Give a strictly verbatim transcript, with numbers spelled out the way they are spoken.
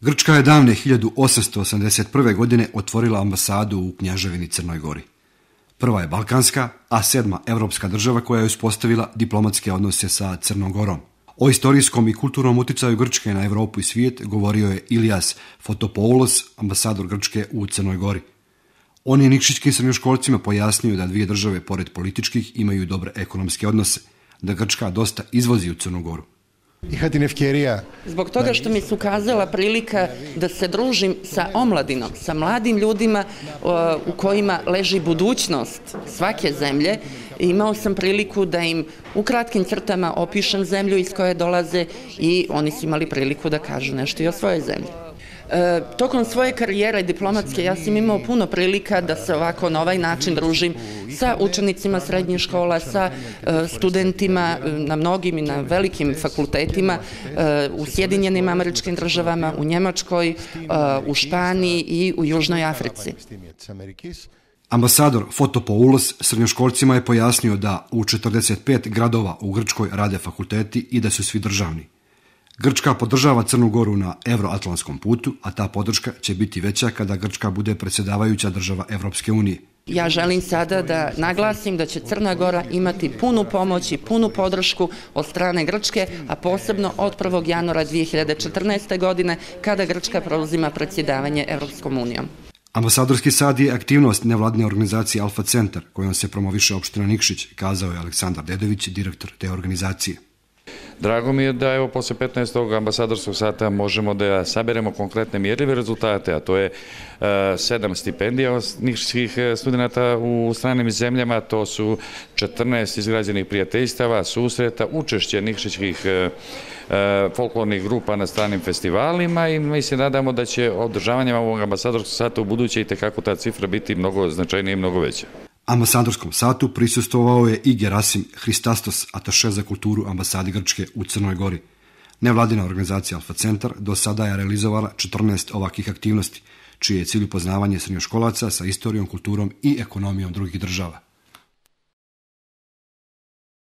Grčka je davne hiljadu osamsto osamdeset prve. godine otvorila ambasadu u Kneževini Crnoj Gori. Prva je balkanska, a sedma evropska država koja je uspostavila diplomatske odnose sa Crnom Gorom. O istorijskom i kulturnom uticaju Grčke na Evropu i svijet govorio je Ilias Fotopoulos, ambasador Grčke u Crnoj Gori. On je nikšićkim srednjoškolcima pojasnio da dvije države, pored političkih, imaju dobre ekonomske odnose, da Grčka dosta izvozi u Crnu Goru. Zbog toga što mi se ukazala prilika da se družim sa omladinom, sa mladim ljudima u kojima leži budućnost svake zemlje, imao sam priliku da im u kratkim crtama opišem zemlju iz koje dolaze i oni su imali priliku da kažu nešto i o svojoj zemlji. E, tokom svoje karijere diplomatske ja sam imao puno prilika da se ovako na ovaj način družim sa učenicima srednjih škola, sa e, studentima na mnogim i na velikim fakultetima e, u Sjedinjenim Američkim Državama, u Njemačkoj, e, u Španiji i u Južnoj Africi. Ambasador Fotopoulos srednjoškolcima je pojasnio da u četrdeset pet gradova u Grčkoj rade fakulteti i da su svi državni. Grčka podržava Crnu Goru na euroatlantskom putu, a ta podrška će biti veća kada Grčka bude predsjedavajuća država Evropske unije. Ja želim sada da naglasim da će Crna Gora imati punu pomoć i punu podršku od strane Grčke, a posebno od prvog januara dvije hiljade četrnaeste. godine kada Grčka preuzima predsjedavanje Evropskom unijom. Ambasadorski sad je aktivnost nevladne organizacije Alfa Centar, kojom se promoviše opština Nikšić, kazao je Aleksandar Dedović, direktor te organizacije. Drago mi je da evo posle petnaestog ambasadorskog sata možemo da saberemo konkretne mjerljive rezultate, a to je uh, sedam stipendija nikšićkih studenta u stranim zemljama, to su četrnaest izgrađenih prijateljstava, susreta, učešće nikšićkih uh, uh, folklornih grupa na stranim festivalima i mi se nadamo da će održavanjem ovog ambasadorskog sata u buduće i tekako ta cifra biti mnogo značajnija i mnogo veća. Ambasadorskom satu prisustvovao je i Gerasim Hristastos, ataše za kulturu ambasade Grčke u Crnoj Gori. Nevladina organizacija Alfa Centar do sada je realizovala četrnaest ovakvih aktivnosti, čiji je cilj upoznavanje srednjoškolaca sa istorijom, kulturom i ekonomijom drugih država.